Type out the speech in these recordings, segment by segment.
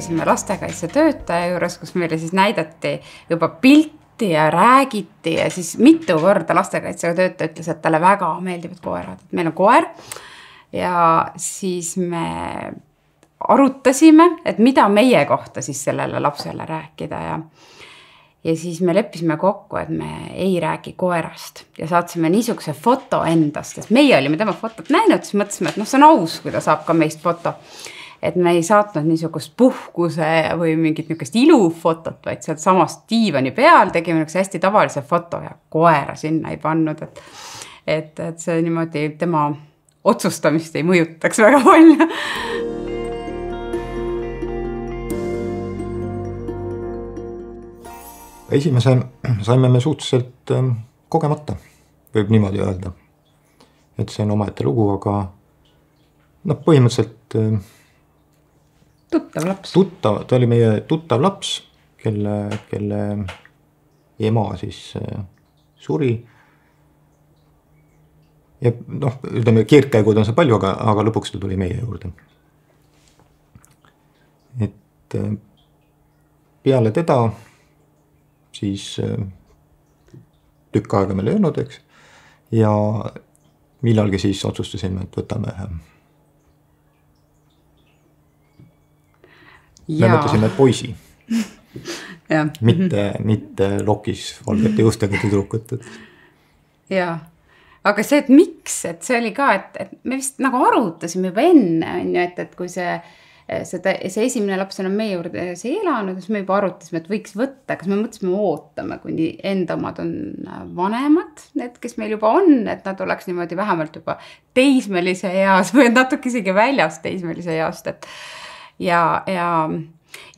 käisime lastekaitsetöötaja juures, kus meile siis näidati juba pilti ja räägiti ja siis mitu korda lastekaitsetöötaja ütles, et talle väga meeldivad koerad. Meil on koer ja siis me arutasime, et mida meie kohta siis sellele lapsele rääkida ja siis me leppisime kokku, et me ei räägi koerast ja saatsime niisuguse foto endast, sest meie olime tema fotot näinud, siis mõtlesime, et see on aus, kui ta saab ka meist foto. Et me ei saatnud niisugust puhkuse või mingit niisugust ilufotot, vaid sealt samast diivani peal tegime niisuguse hästi tavalise foto ja koera sinna ei pannud, et see niimoodi tema otsustamist ei mõjutaks väga palju. Esimese saime me suhteliselt kogemata, võib niimoodi öelda. Et see on omaette lugu, aga põhimõtteliselt tuttav laps. Ta oli meie tuttav laps, kelle ema siis suri. Ja ütleme, keerdkäigud on see palju, aga lõpuks ta tuli meie juurde. Et peale teda siis tükk aega meil ei olnud, eks. Ja millalgi siis otsustasime, et võtame me mõtlesime poisi. mitte lokis valgete juustega tüdrukut. Jaa. Aga see, et miks, et see oli ka, et me vist nagu arutasime juba enne, et kui see esimene laps on meie juurde see elanud, siis me juba arutasime, et võiks võtta, kas me mõtlesime ootame, kuni enda omad on vanemad, need, kes meil juba on, et nad oleks niimoodi vähemalt juba teismelise eas või natuke isegi väljas teismelise east, ja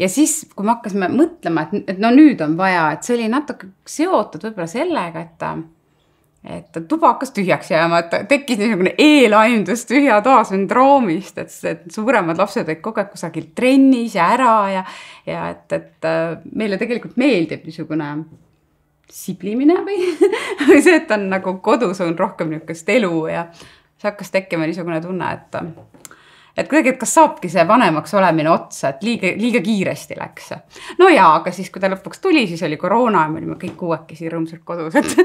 siis, kui me hakkasime mõtlema, et nüüd on vaja, et see oli natuke seotud võib-olla sellega, et tuba hakkas tühjaks jääma, et tekkis niisugune eelaimdus tühja toa sündroomist, et suuremad lapsed olid kogu aeg kusagil trennis ja ära ja et meile tegelikult meeldib niisugune siblimine või see, et on nagu kodus on rohkem niisugust elu ja see hakkas tekkima niisugune tunne, et kuidagi, et kas saabki see vanemaks olemine otsa, et liiga kiiresti läks. No jaa, aga siis, kui ta lõpuks tuli, siis oli koroona ja me olime kõik uuekesi rõõmsalt kodus, et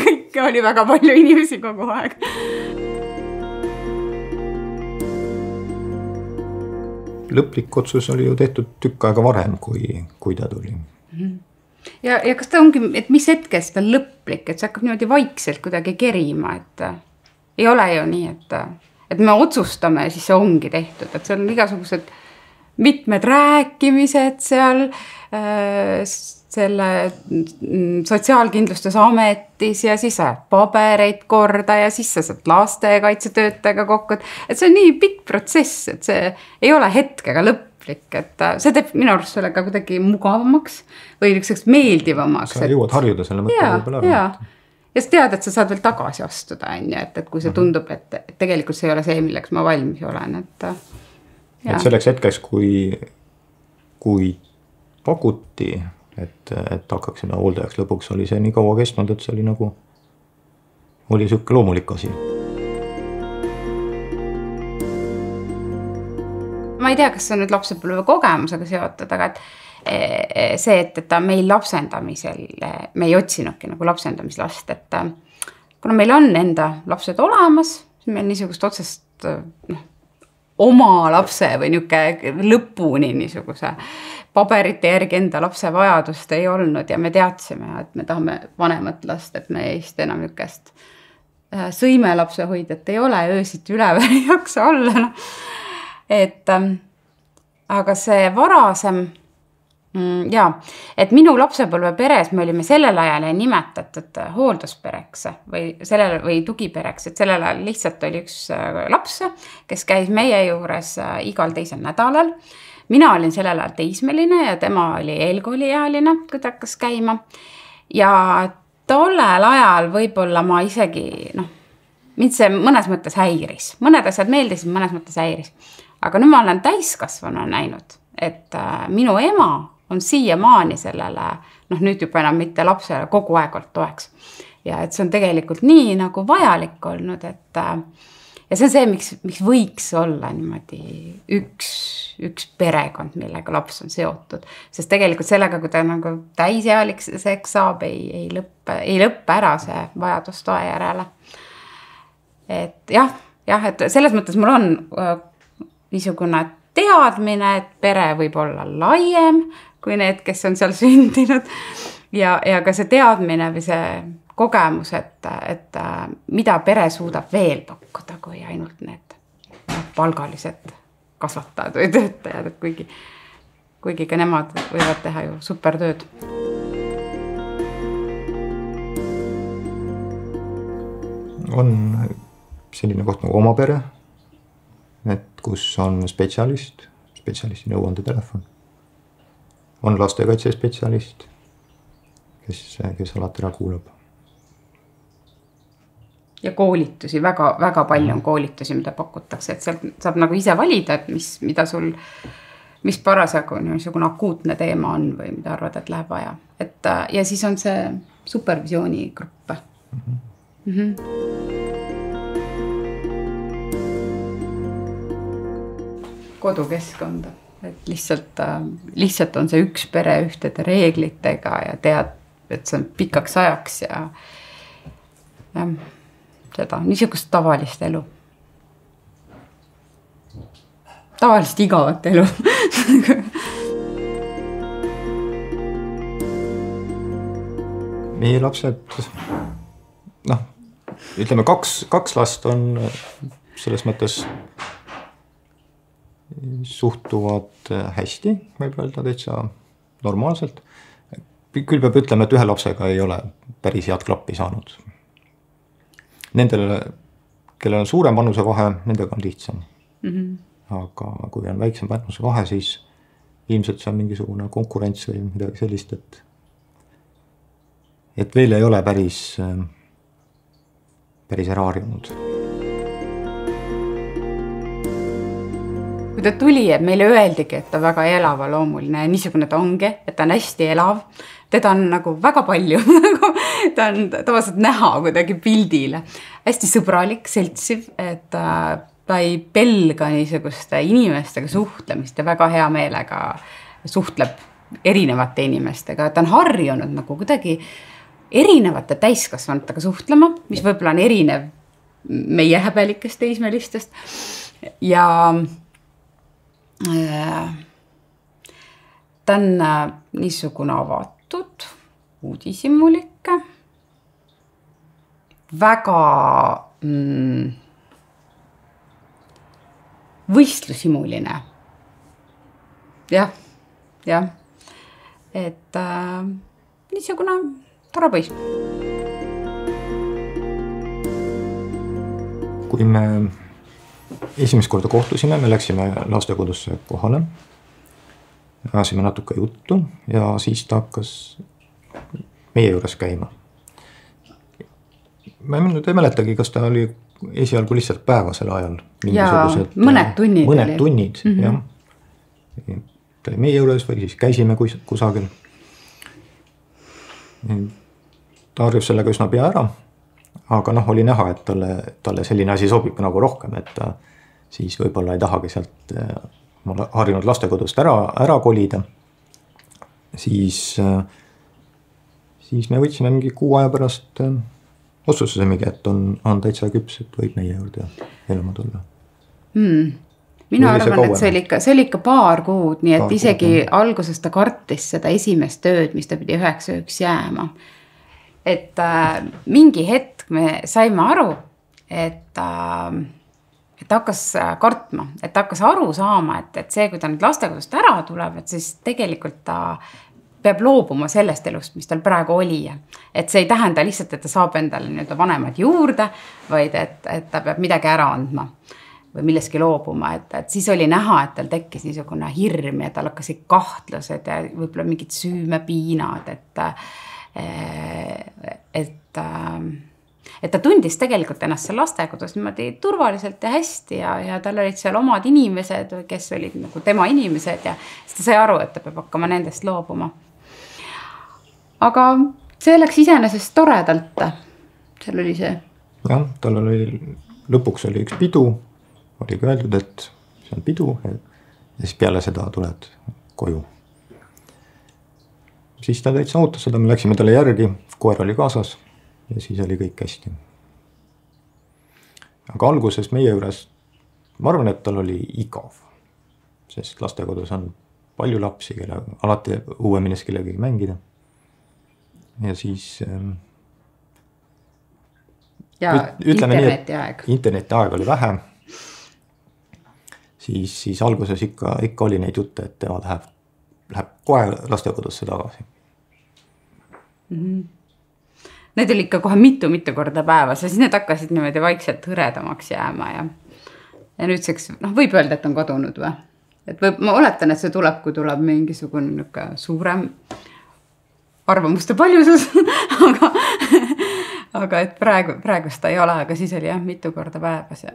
kõik oli väga palju inimesi kogu aeg. Lõplik otsus oli ju tehtud tükk aega varem, kui ta tuli. Ja kas ta ongi, et mis hetkest ta lõplik, et see hakkab niimoodi vaikselt kuidagi kerima, et ei ole ju nii, et me otsustame ja siis see ongi tehtud, et seal on igasugused mitmed rääkimised seal selle sotsiaalkindlustusametis ja siis ajad pabereid korda ja siis sa saad lastekaitsetöötajaga kokku, et see on nii pikk protsess, et see ei ole hetkega lõplik, et see teeb minu arust sellega kuidagi mugavamaks või niisuguseks meeldivamaks. Sa jõuad harjuda selle mõtte võib-olla ära. Ja sa tead, et sa saad veel tagasi astuda, et kui see tundub, et tegelikult see ei ole see, milleks ma valmis olen. Et selleks hetkeks, kui pakuti, et hakkaksime hooldajaks lõpuks, oli see nii kaua kestnud, et see oli nagu, oli siuke loomulik asi. Ma ei tea, kas see on nüüd lapsepõlve kogemusega seotud, aga see, et ta meil lapsendamisel, me ei otsinudki nagu lapsendamislast, et kuna meil on enda lapsed olemas, siis meil niisugust otsest oma lapse või niisugune lõpuni niisuguse paberite järgi enda lapse vajadust ei olnud ja me teadsime, et me tahame vanemat last, et me eest enam niisugust sõimelapse hoidjat ei ole, öösiti üleval ei jaksa olla. Aga see varasem et minu lapsepõlve peres me olime sellel ajal nimetatud hoolduspereks või tugipereks, et sellel ajal lihtsalt oli üks laps, kes käis meie juures igal teisel nädalal. Mina olin sellel ajal teismeline ja tema oli eelkooliealine, kui ta hakkas käima. Ja tollel ajal võib-olla ma isegi, mind see mõnes mõttes häiris. Mõned asjad meeldisid, mõnes mõttes häiris. Aga nüüd ma olen täiskasvanu näinud, et minu ema on siiamaani sellele, nüüd juba enam mitte lapsele kogu aeg olnud toeks. Ja et see on tegelikult nii nagu vajalik olnud, et ja see on see, miks võiks olla niimoodi üks üks perekond, millega laps on seotud. Sest tegelikult sellega, kui ta nagu täisealiseks saab, ei lõppe ära see vajadus toe järele. Et jah, et selles mõttes mul on niisugune teadmine, et pere võib olla laiem kui need, kes on seal sündinud. Ja ka see teadmine või see kogemus, et mida pere suudab veel pakkuda, kui ainult need palgalised kasvatajad või töötajad, et kuigi ka nemad võivad teha ju supertööd. On selline koht nagu oma pere, et kus on spetsialisti nõuandetelefon. On lastekaitsespetsialist, kes alati ära kuulab. Ja koolitusi, väga palju on koolitusi, mida pakutakse, et sealt saab nagu ise valida, et mis parasjagu niisugune akuutne teema on või mida arvad, et läheb vaja. Ja siis on see supervisiooni gruppe. Kodukeskkonda, et lihtsalt on see üks pere ühtede reeglitega ja tead, et see on pikaks ajaks ja seda niisugust tavalist elu. Tavalist igavat elu. Meie lapsed, ütleme kaks last on selles mõttes suhtuvad hästi, võib öelda täitsa normaalselt. Küll peab ütlema, et ühe lapsega ei ole päris head klappi saanud. Nendele, kellel on suurem vanusevahe, nendega on lihtsam. Aga kui on väiksem vanusevahe, siis ilmselt see on mingisugune konkurents või midagi sellist, et veel ei ole päris ära harjunud. Kui ta tuli, et meile öeldigi, et ta väga elava loomuline ja niisugune ta ongi, et ta on hästi elav. Teda on nagu väga palju, ta on tavaliselt näha kuidagi pildile. Hästi sõbralik, seltsiv, et ta ei pelga niisuguste inimestega suhtlemist ja väga hea meelega suhtleb erinevate inimestega. Ta on harjunud nagu kuidagi erinevate täiskasvanutega suhtlema, mis võib-olla on erinev meie häbelikest teismelistest. Ja ta on niisugune avatud, uudishimulikke, väga võistlushimuline. Jah. Et niisugune tore poiss. Kui me esimest korda kohtusime, me läksime lastekodusse kohale. Ajasime natuke juttu ja siis ta hakkas meie juures käima. Ma ei mäletagi, kas ta oli esialgu lihtsalt päevasel ajal. Mõned tunnid, jah. Ta oli meie juures või siis käisime kusagil. Ta harjus sellega üsna pea ära, aga oli näha, et talle selline asi sobib nagu rohkem, et ta siis võib-olla ei tahagi sealt harjunud lastekodust ära kolida, siis me võtsime mingi 6 aja pärast otsustasimegi, et on täitsa küps, et võib meie juurde elama tulla. Mina arvan, et see oli ikka paar kuud, nii et isegi alguses ta kartis seda esimest tööd, mis ta pidi 9 ööks jääma. Et mingi hetk me saime aru, et hakkas kartma, et hakkas aru saama, et see, kui ta nüüd lastekodust ära tuleb, et siis tegelikult ta peab loobuma sellest elust, mis tal praegu oli. Et see ei tähenda lihtsalt, et ta saab endale vanemad juurde, vaid et ta peab midagi ära andma või milleski loobuma. Et siis oli näha, et tal tekkis niisugune hirm ja tal hakkasid kahtlused ja võib-olla mingid süümepiinad, et ta tundis tegelikult ennast seal lastekodus niimoodi turvaliselt ja hästi ja tal olid seal omad inimesed, kes olid nagu tema inimesed ja siis ta sai aru, et ta peab hakkama nendest loobuma. Aga see läks iseenesest toredalt. Seal oli see. Jah, lõpuks oli üks pidu, oli öeldud, et see on pidu ja siis peale seda tuled koju. Siis ta täitsa ootas seda, me läksime talle järgi, koer oli kaasas ja siis oli kõik hästi. Aga alguses meie juures, ma arvan, et tal oli igav, sest lastekodus on palju lapsi, kelle alati uue minnes kellegagi mängida. Ja siis ja internetiaeg. Internetiaeg oli vähe. Siis alguses ikka oli neid jutte, et tema läheb kohe lastekodusse tagasi. Need oli ikka kohe mitu korda päevas ja siis need hakkasid niimoodi vaikselt hõredamaks jääma ja nüüdseks võib öelda, et on kadunud või? Et ma oletan, et see tuleb, kui tuleb mingisugune suurem arvamuste paljusus, aga et praegu seda ei ole, aga siis oli jah mitu korda päevas. Ja.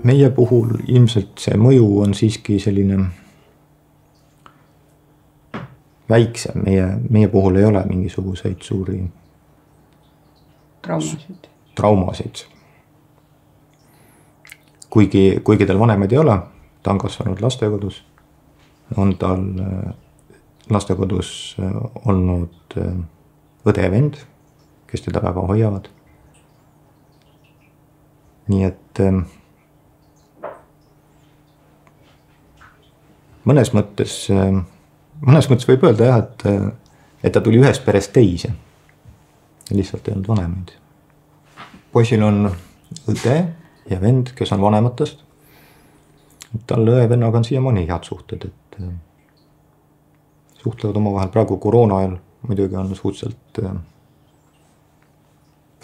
Meie puhul ilmselt see mõju on siiski selline väiksem. Meie puhul ei ole mingisuguseid suuri traumasid. Kuigi tal vanemaid ei ole, ta on kasvanud lastekodus, on tal lastekodus olnud õde ja vend, kes teda väga hoiavad. Nii et mõnes mõttes võib öelda jah, et ta tuli ühest perest teise. Lihtsalt ei olnud vanemaid. Poisil on õde ja vend, kes on vanematest. Tal õe vennaga on siiamaani head suhted, et suhtlevad oma vahel. Praegu koroona ajal muidugi on suhteliselt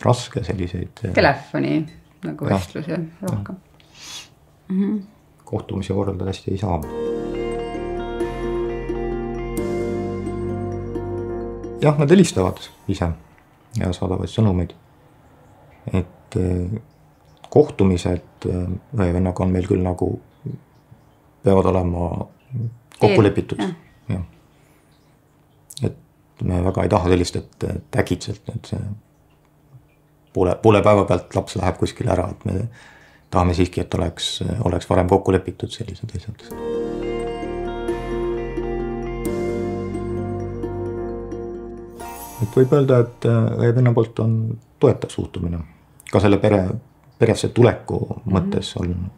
raske selliseid telefoni nagu vestlusi rohkem. Kohtumisi korraldada hästi ei saa. Jah, nad helistavad ise ja saadavad sõnumeid. Et kohtumised vennaga on meil küll nagu peavad olema kokku lepitud. Ja. Et me väga ei taha sellist, et äkitselt et poole päeva pealt laps läheb kuskile ära, et me tahame siiski, et oleks varem kokku lepitud sellised asjad. Et võib öelda, et venna poolt on toetav suhtumine. Ka selle peresse tuleku mõttes on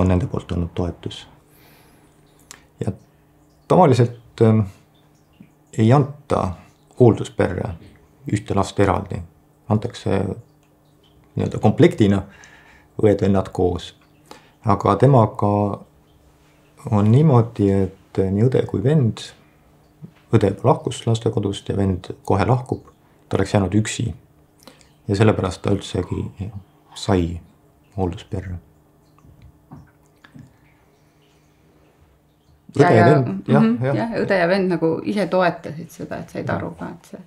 nende poolt olnud toetus. Ja tavaliselt ei anta hooldusperre ühte last eraldi. Antakse nii-öelda komplektina õed-vennad koos. Aga temaga on niimoodi, et nii õde kui vend, õde lahkus lastekodust ja vend kohe lahkub, ta oleks jäänud üksi. Ja sellepärast ta üldsegi sai hooldusperre. Õde ja vend nagu ise toetasid seda, et said aru ka, et see.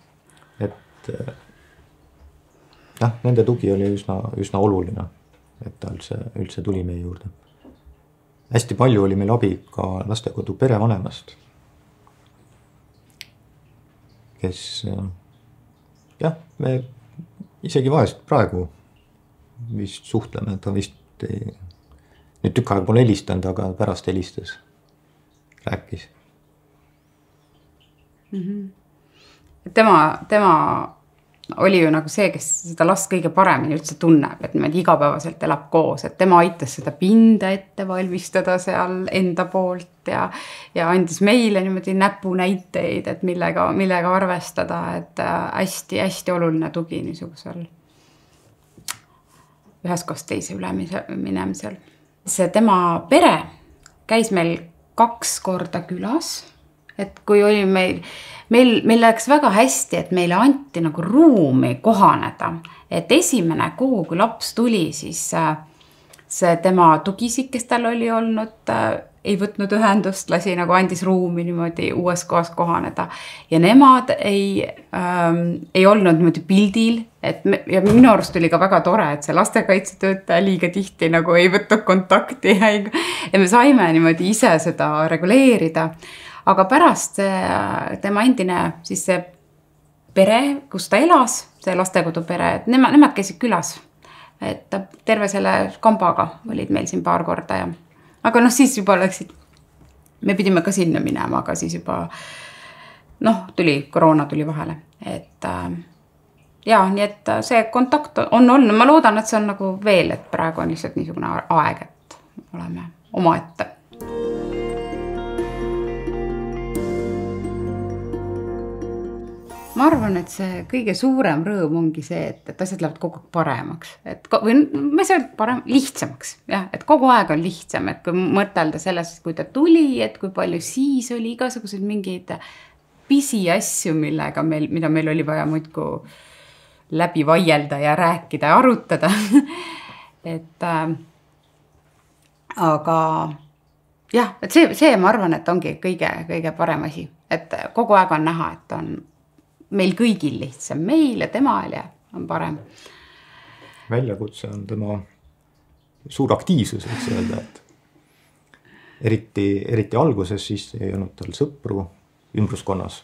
Et nende tugi oli üsna oluline, et ta üldse tuli meie juurde. Hästi palju oli meil abi ka lastekodu perevanemast, kes me isegi vahest praegu vist suhtleme, ta vist nüüd tükk aega pole helistanud, aga pärast helistas, rääkis. Tema oli ju nagu see, kes seda last kõige paremini üldse tunneb, et niimoodi igapäevaselt elab koos, et tema aitas seda pinda ette valmistada seal enda poolt ja andis meile niimoodi näpunäiteid, et millega arvestada, et hästi oluline tugi niisugusel üheskoos teise üle minemisel. See tema pere käis meil 2 korda külas, et kui oli meil läks väga hästi, et meile anti nagu ruumi kohaneda, et esimene kuu, kui laps tuli, siis see tema tugisik, kes tal oli olnud, ei võtnud ühendust, lasi nagu andis ruumi niimoodi uues kohas kohaneda ja nemad ei olnud niimoodi pildil, ja minu arust oli ka väga tore, et see lastekaitsetöötaja liiga tihti nagu ei võtnud kontakti ja me saime niimoodi ise seda reguleerida. Aga pärast tema endine siis see pere, kus ta elas, see lastekodu pere, et nemad käisid külas et terve selle kambaga olid meil siin paar korda ja aga noh, siis juba läksid, me pidime ka sinna minema, aga siis juba koroona tuli vahele, et nii et see kontakt on olnud, ma loodan, et see on nagu veel, et praegu on lihtsalt niisugune aeg, et oleme omaette. Ma arvan, et see kõige suurem rõõm ongi see, et asjad lähevad kogu aeg paremaks. Või ma ei saa lihtsamaks. Jah, et kogu aeg on lihtsam. Et kui mõtelda sellest, kui ta tuli, et kui palju siis oli igasugused mingeid pisi asju, mida meil oli vaja muidku läbi vaielda ja rääkida ja arutada. Aga jah, et see ma arvan, et ongi kõige parem asi. Et kogu aeg on näha, et on meil kõigil lihtsam, meil ja temal ja on parem. Väljakutse on tema suur aktiivsus, võiks öelda, et eriti alguses siis ei olnud tal sõpru ümbruskonnas.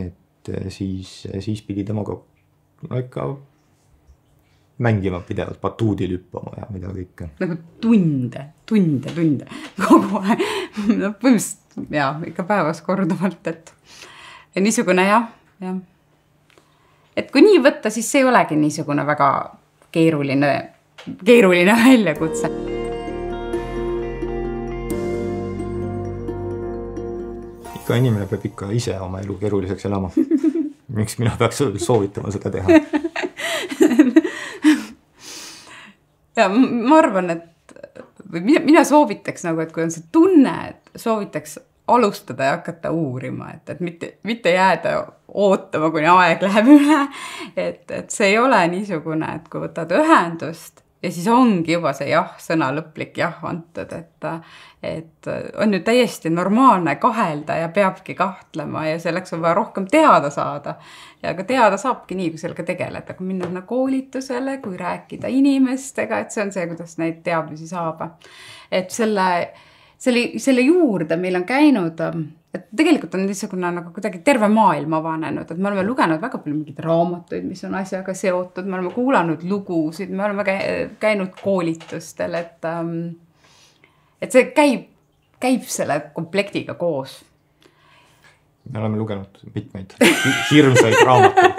Et siis pidi temaga ikka mängima pidevalt, batuudil hüppama ja mida kõike. Nagu tunde. Kogu aeg. Põhimõtteliselt ikka päevas korduvalt, et ja niisugune jah. Et kui nii võtta, siis see ei olegi niisugune väga keeruline väljakutse. Ikka inimene peab ikka ise oma elu keeruliseks elama. Miks mina peaks soovitama seda teha? Ja ma arvan, et mina soovitaks nagu, et kui on see tunne, et soovitaks alustada ja hakata uurima, et mitte jääda ootama, kuni aeg läheb üle, et see ei ole niisugune, et kui võtad ühendust ja siis ongi juba see sõna lõplik antud, et on ju täiesti normaalne kahelda ja peabki kahtlema ja selleks on vaja rohkem teada saada. Ja ka teada saabki nii, kui sellega tegeleda, kui minna koolitusele, kui rääkida inimestega, et see on see, kuidas neid teadmisi saab. Et selle juurde meil on käinud, et tegelikult on niisugune nagu kuidagi terve maailm avanenud, et me oleme lugenud väga palju mingeid raamatuid, mis on asjaga seotud, me oleme kuulanud lugusid, me oleme käinud koolitustel, et see käib selle komplektiga koos. Me oleme lugenud mitmeid hirmsaid raamatuid.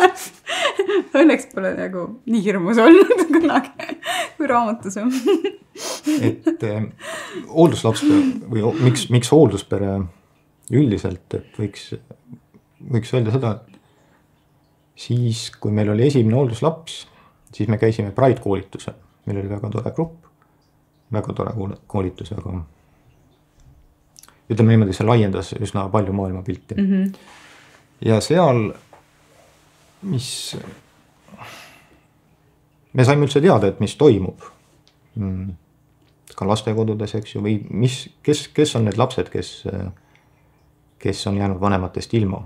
Õnneks pole nagu nii hirmus olnud kunagi, kui raamatus on. Et hoolduslaps või miks hoolduspere üldiselt, et võiks öelda seda, et siis, kui meil oli esimene hoolduslaps, siis me käisime Pride koolitusel. Meil oli väga tore grupp, väga tore koolitus, aga ütleme niimoodi, see laiendas üsna palju maailmapilti. Ja seal, me saime üldse teada, et mis toimub ka lastekodudes, eks ju, või kes on need lapsed, kes on jäänud vanematest ilma.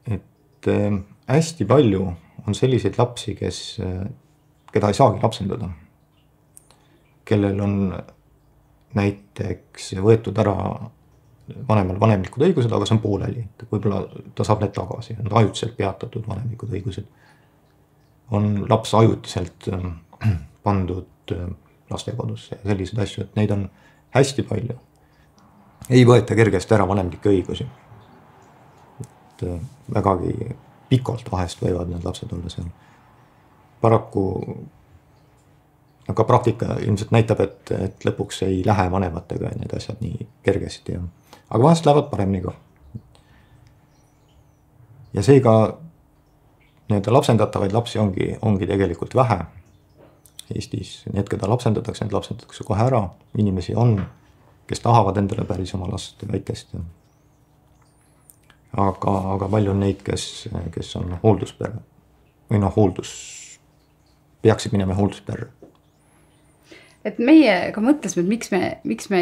Et hästi palju on selliseid lapsi, keda ei saagi lapsendada, kellel on näiteks võetud ära vanemal vanemlikud õigused, aga see on pooleli. Võib-olla ta saab need tagasi, on ajutiselt peatatud vanemlikud õigused. On laps ajutiselt pandud lastekodusse ja sellised asju, et neid on hästi palju. Ei võeta kergesti ära vanemlikke õigusi. Et vägagi pikalt vahest võivad need lapsed olla seal. Paraku ka praktika ilmselt näitab, et lõpuks ei lähe vanematega need asjad nii kergesti. Aga vahest lähevad paremini ka. Ja seega need lapsendatavaid lapsi ongi tegelikult vähe. Eestis need, keda lapsendatakse, need lapsendatakse kohe ära. Inimesi on, kes tahavad endale päris oma last väikest. Aga palju on neid, kes on hoolduspere või peaksid minema hooldusperre. Et meie ka mõtlesime, et miks me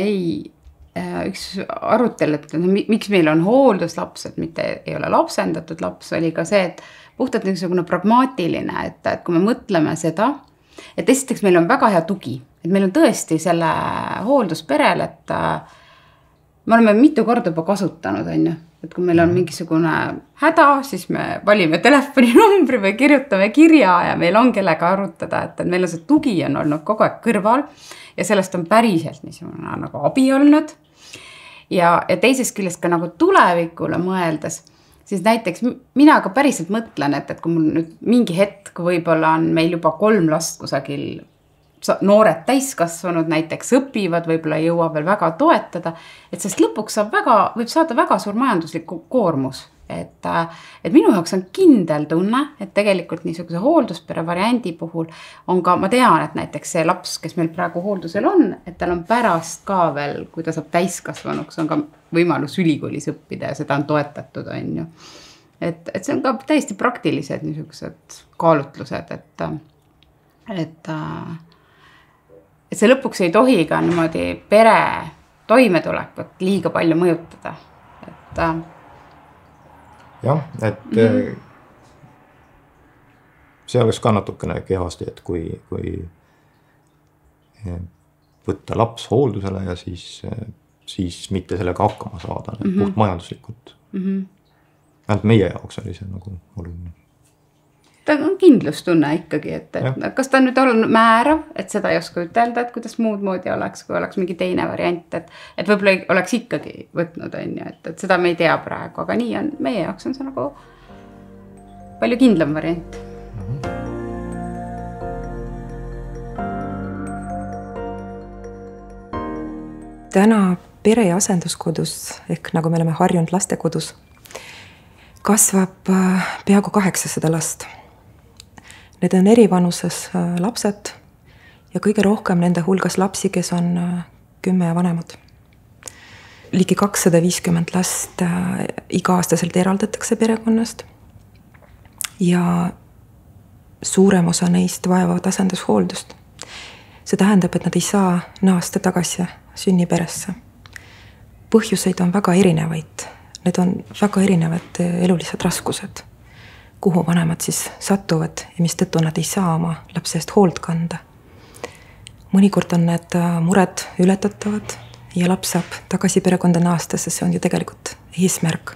üks arutel, et miks meil on hoolduslaps, et mitte ei ole lapsendatud laps, oli ka see, et puhtalt niisugune pragmaatiline, et kui me mõtleme seda, et esiteks meil on väga hea tugi, et meil on tõesti selle hooldusperel, et me oleme mitu korda juba kasutanud, et kui meil on mingisugune häda, siis me valime telefoninumbri või kirjutame kirja ja meil on kellega arutada, et meil on see tugi on olnud kogu aeg kõrval ja sellest on päriselt niisugune nagu abi olnud. Ja teisest küljest ka nagu tulevikule mõeldes, siis näiteks mina ka päriselt mõtlen, et kui mul nüüd mingi hetk võib-olla on meil juba 3 last kusagil noored täiskasvanud näiteks õpivad, võib-olla ei jõua veel väga toetada, et sest lõpuks võib saada väga suur majanduslik koormus. Et minu jaoks on kindel tunne, et tegelikult niisuguse hoolduspere variandi puhul on ka, ma tean, et näiteks see laps, kes meil praegu hooldusel on, et tal on pärast ka veel, kui ta saab täiskasvanuks, on ka võimalus ülikoolis õppida ja seda on toetatud, on ju. Et see on ka täiesti praktilised niisugused kaalutlused, et see lõpuks ei tohi ka niimoodi pere toimetulekut liiga palju mõjutada. Jah, et see oleks ka natukene kehvasti, et kui võtta laps hooldusele ja siis mitte sellega hakkama saada, puht majanduslikult. Ainult meie jaoks oli see nagu oluline. Ta on kindlustunne ikkagi, et kas ta nüüd on määrav, et seda ei oska ütelda, et kuidas muud moodi oleks, kui oleks mingi teine variant, et võib-olla oleks ikkagi võtnud, et seda me ei tea praegu, aga nii on, meie jaoks on see nagu palju kindlam variant. Täna pere- ja asenduskodus, ehk nagu me oleme harjunud lastekodus, kasvab peaaegu 800 last. Need on eri vanuses lapsed ja kõige rohkem nende hulgas lapsi, kes on 10 ja vanemad. Ligi 250 last iga-aastaselt eraldatakse perekonnast ja suurem osa neist vajavad asendushooldust. See tähendab, et nad ei saa naasta tagasi sünniperesse. Põhjuseid on väga erinevaid. Need on väga erinevad elulised raskused, kuhu vanemad siis satuvad ja mis tõttu nad ei saa oma lapse eest hoolt kanda. Mõnikord on need mured ületatavad ja laps saab tagasi perekonda naasta, sest see on ju tegelikult eesmärk.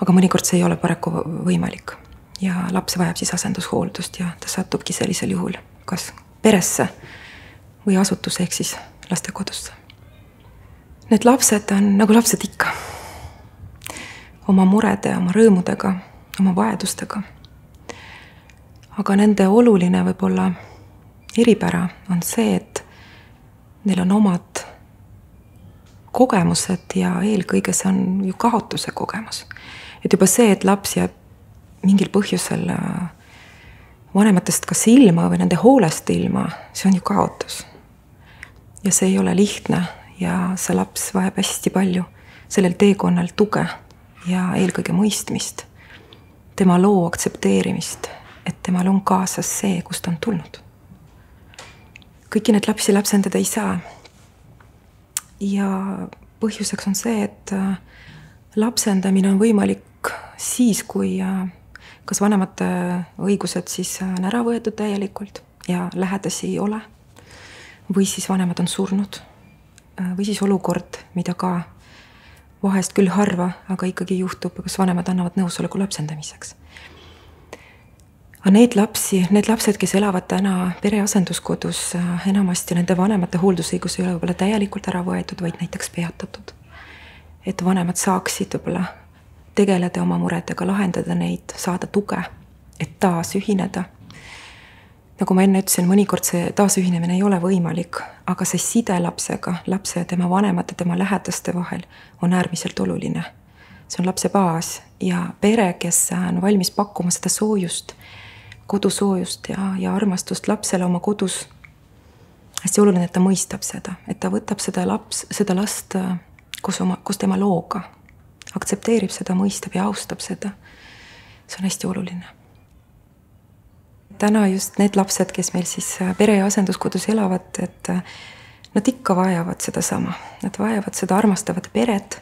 Aga mõnikord see ei ole paraku võimalik ja laps vajab siis asendushooldust ja ta satubki sellisel juhul kas peresse või asutuse ehk siis lastekodusse. Need lapsed on nagu lapsed ikka, oma murede, oma rõõmudega, oma vajadustega. Aga nende oluline võib-olla eripära on see, et neil on omad kogemused ja eelkõige see on ju kaotuse kogemus. Et juba see, et laps jääb mingil põhjusel vanematest kas ilma või nende hoolest ilma, see on ju kaotus. Ja see ei ole lihtne ja see laps vajab hästi palju sellel teekonnal tuge ja eelkõige mõistmist, tema loo aktsepteerimist, et temal on kaasas see, kust on tulnud. Kõiki need lapsi lapsendada ei saa. Ja põhjuseks on see, et lapsendamine on võimalik siis, kui kas vanemate õigused siis on ära võetud täielikult ja lähedasi ei ole, või siis vanemad on surnud, või siis olukord, mida ka vahest küll harva, aga ikkagi juhtub, kas vanemad annavad nõusoleku lapsendamiseks. Aga need lapsed, kes elavad täna pereasenduskodus, enamasti nende vanemate hooldusõigus ei ole võib-olla täielikult ära võetud, vaid näiteks peatatud. Et vanemad saaksid võib-olla tegeleda oma muredega, lahendada neid, saada tuge, et taas ühineda. Nagu ma enne ütlesin, mõnikord see taasühinemine ei ole võimalik, aga see side lapsega, lapse ja tema vanemate, tema lähedaste vahel on äärmiselt oluline. See on lapse baas ja pere, kes on valmis pakkuma seda soojust, kodusoojust ja armastust lapsele oma kodus. Hästi oluline, et ta mõistab seda, et ta võtab seda last koos tema looga, aktsepteerib seda, mõistab ja austab seda. See on hästi oluline. Täna just need lapsed, kes meil siis pere- ja asenduskodus elavad, et nad ikka vajavad seda sama. Nad vajavad seda armastavat peret.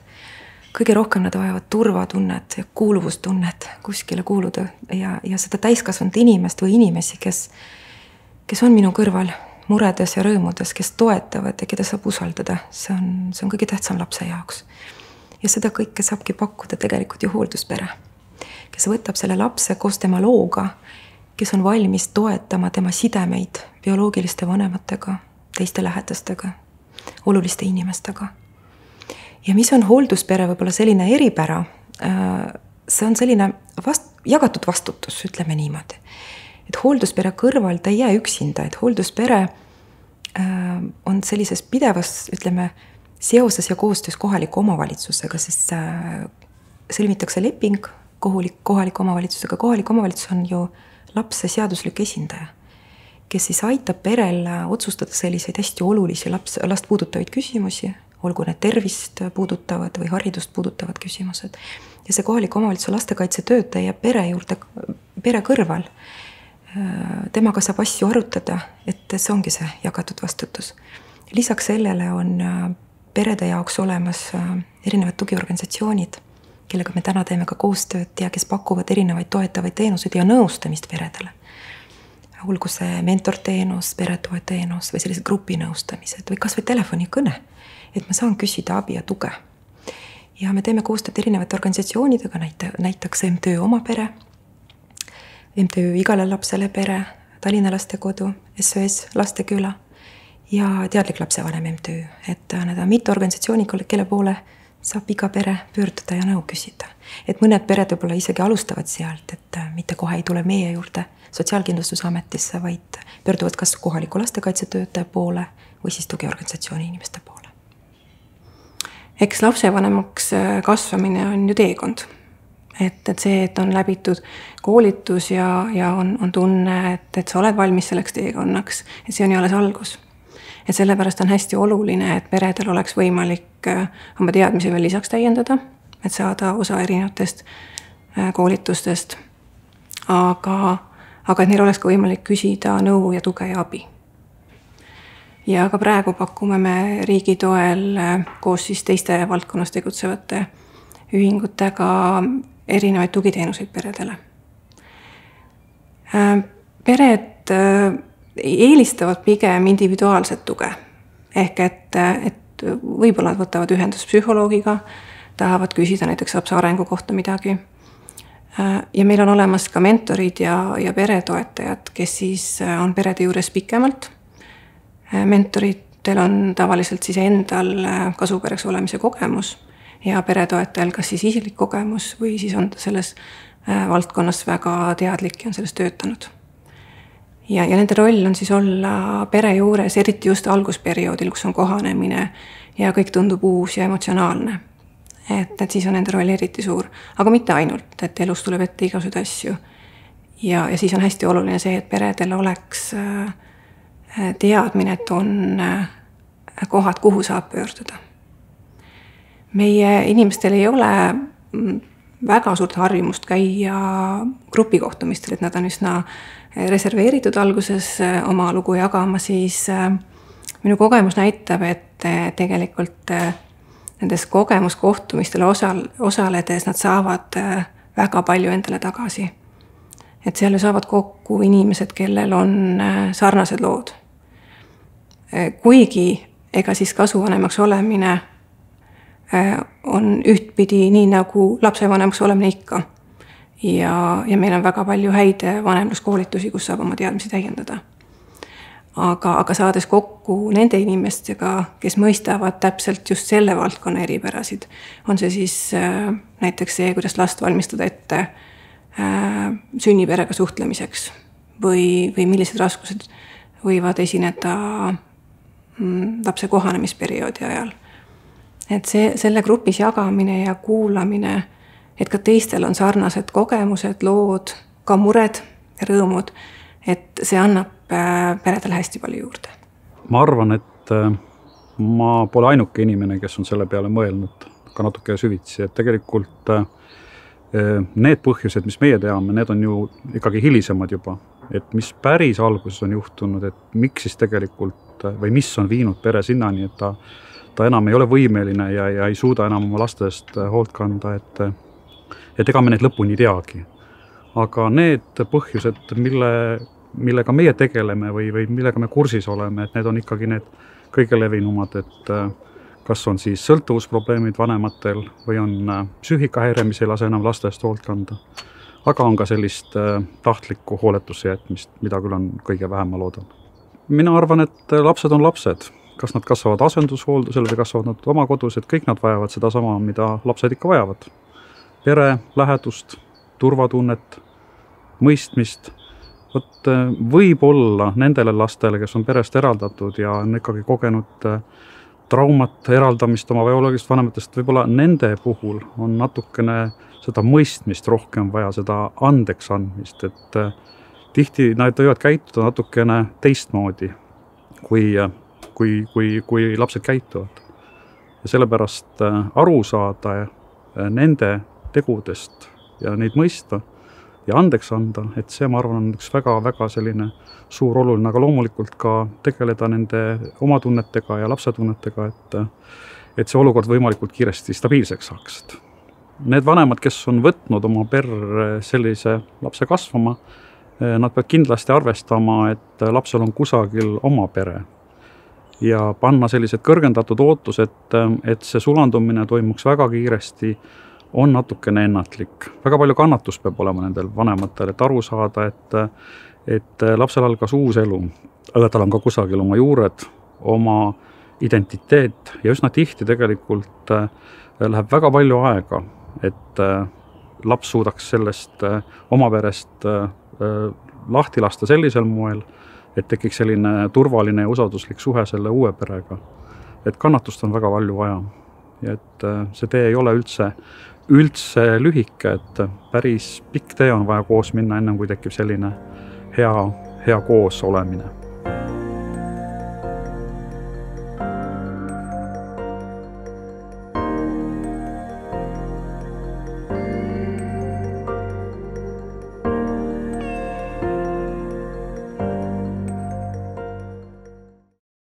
Kõige rohkem nad vajavad turvatunnet ja kuuluvustunnet kuskile kuuluda ja seda täiskasvanud inimest või inimesi, kes on minu kõrval muredes ja rõõmudes, kes toetavad ja keda saab usaldada. See on kõige tähtsam lapse jaoks. Ja seda kõike saabki pakkuda tegelikult ju hoolduspere, kes võtab selle lapse koos tema looga, kes on valmis toetama tema sidemeid bioloogiliste vanematega, teiste lähedastega, oluliste inimestega. Ja mis on hoolduspere võib-olla selline eripära, see on selline jagatud vastutus, ütleme niimoodi. Et hoolduspere kõrval ta ei jää üksinda, et hoolduspere on sellises pidevas, ütleme, seoses ja koostöös kohaliku omavalitsusega, sest sõlmitakse leping kohaliku omavalitsusega. Kohalik omavalitsus on ju lapse seaduslik esindaja, kes siis aitab perel otsustada selliseid hästi olulisi last puudutavaid küsimusi, olgu need tervist puudutavad või haridust puudutavad küsimused. Ja see kohaliku omavalitsuse lastekaitsetöötaja pere juurde, pere kõrval, temaga saab asju arutada, et see ongi see jagatud vastutus. Lisaks sellele on perede jaoks olemas erinevad tugiorganisatsioonid, kellega me täna teeme ka koostööd ja kes pakuvad erinevaid toetavaid teenuseid ja nõustamist peredele. Olgu see mentorteenus, peretoeteenus või sellised grupinõustamised või kas või telefonikõne, et ma saan küsida abi ja tuge. Ja me teeme koostööd erinevate organisatsioonidega, näiteks MTÜ Oma Pere, MTÜ Igale lapsele pere, Tallinna lastekodu, SOS Lasteküla ja Teadlik lapsevanem MTÜ, et need on mitu organisatsiooni, kelle poole saab iga pere pöörduda ja nõu küsida. Et mõned pered võib-olla isegi alustavad sealt, et mitte kohe ei tule meie juurde Sotsiaalkindlustusametisse, vaid pöörduvad kas kohaliku lastekaitsetöötaja poole või siis tugiorganisatsiooni inimeste poole. Eks lapsevanemaks kasvamine on ju teekond. Et see, et on läbitud koolitus ja on tunne, et sa oled valmis selleks teekonnaks, et see on ju alles algus. Et sellepärast on hästi oluline, et peredel oleks võimalik oma teadmisi veel lisaks täiendada, et saada osa erinevatest koolitustest, aga et neil oleks ka võimalik küsida nõu ja tuge ja abi. Ja ka praegu pakume me riigi toel koos siis teiste valdkonnas tegutsevate ühingutega erinevaid tugiteenuseid peredele. Pered eelistavad pigem individuaalset tuge. Ehk et võib-olla nad võtavad ühendust psühholoogiga, tahavad küsida näiteks lapse arengu kohta midagi. Ja meil on olemas ka mentorid ja peretoetajad, kes siis on perede juures pikemalt. Mentoritel on tavaliselt siis endal kasupereks olemise kogemus ja peretoetajal kas siis isiklik kogemus või siis on ta selles valdkonnas väga teadlik ja on selles töötanud. Ja nende roll on siis olla pere juures, eriti just algusperioodil, kus on kohanemine ja kõik tundub uus ja emotsionaalne. Et siis on nende roll eriti suur, aga mitte ainult, et elus tuleb ette igasuguseid asju. Ja siis on hästi oluline see, et peredel oleks teadmine, et on kohad, kuhu saab pöörduda. Meie inimestel ei ole väga suurt harjumust käia grupikohtumistel, et nad on üsna reserveeritud alguses oma lugu jagama, siis minu kogemus näitab, et tegelikult nendes kogemuskohtumistel osaledes nad saavad väga palju endale tagasi. Et seal saavad kokku inimesed, kellel on sarnased lood. Kuigi ega siis kasuvanemaks olemine on ühtpidi nii nagu lapsevanemaks olemine ikka. Ja meil on väga palju häid vanemluskoolitusi, kus saab oma teadmisi täiendada. Aga saades kokku nende inimestega, kes mõistavad täpselt just selle valdkonna eripärasid, on see siis näiteks see, kuidas last valmistada ette sünniperega suhtlemiseks või millised raskused võivad esineda lapse kohanemisperioodi ajal. Et selle grupis jagamine ja kuulamine, et ka teistel on sarnased kogemused, lood, ka mured ja rõõmud, et see annab peredele hästi palju juurde. Ma arvan, et ma pole ainuke inimene, kes on selle peale mõelnud ka natuke süvitsi, et tegelikult need põhjused, mis meie teame, need on ju ikkagi hilisemad juba, et mis päris alguses on juhtunud, et miks siis tegelikult või mis on viinud pere sinnani, et ta enam ei ole võimeline ja ei suuda enam oma lastest hoolt kanda, et ega me need lõpuni teagi. Aga need põhjused, millega meie tegeleme või millega me kursis oleme, et need on ikkagi need kõige levinumad, et kas on siis sõltuvusprobleemid vanematel või on psüühikahäire, mis ei lase enam laste eest hoolt kanda. Aga on ka sellist tahtlikku hooletusse jätmist, mida küll on kõige vähem, ma loodan. Mina arvan, et lapsed on lapsed. Kas nad kasvavad asendushooldusel või kasvavad nad oma kodus, et kõik nad vajavad seda sama, mida lapsed ikka vajavad. Pere, lähedust, turvatunnet, mõistmist. Võib-olla nendele lastele, kes on perest eraldatud ja on ikkagi kogenud traumat, eraldamist oma bioloogilist vanematest, võib-olla nende puhul on natukene seda mõistmist rohkem vaja, seda andeks andmist, et tihti nad võivad käituda natukene teistmoodi, kui lapsed käituvad. Ja sellepärast aru saada nende tegudest ja neid mõista ja andeks anda, et see, ma arvan, on üks väga-väga selline suur oluline, aga loomulikult ka tegeleda nende oma tunnetega ja lapse tunnetega, et see olukord võimalikult kiiresti stabiilseks saaks. Need vanemad, kes on võtnud oma perre sellise lapse kasvama, nad peavad kindlasti arvestama, et lapsel on kusagil oma pere ja panna sellised kõrgendatud ootused, et see sulandumine toimuks väga kiiresti, on natukene ennatlik. Väga palju kannatust peab olema nendel vanematel, et aru saada, et lapsel algas uus elu, aga tal on ka kusagil oma juured, oma identiteet ja üsna tihti tegelikult läheb väga palju aega, et laps suudaks sellest oma perest lahti lasta sellisel moel, et tekiks selline turvaline ja usalduslik suhe selle uue perega. Et kannatust on väga palju vaja ja et see tee ei ole üldse lühike, et päris pikk tee on vaja koos minna, enne kui tekib selline hea koos olemine.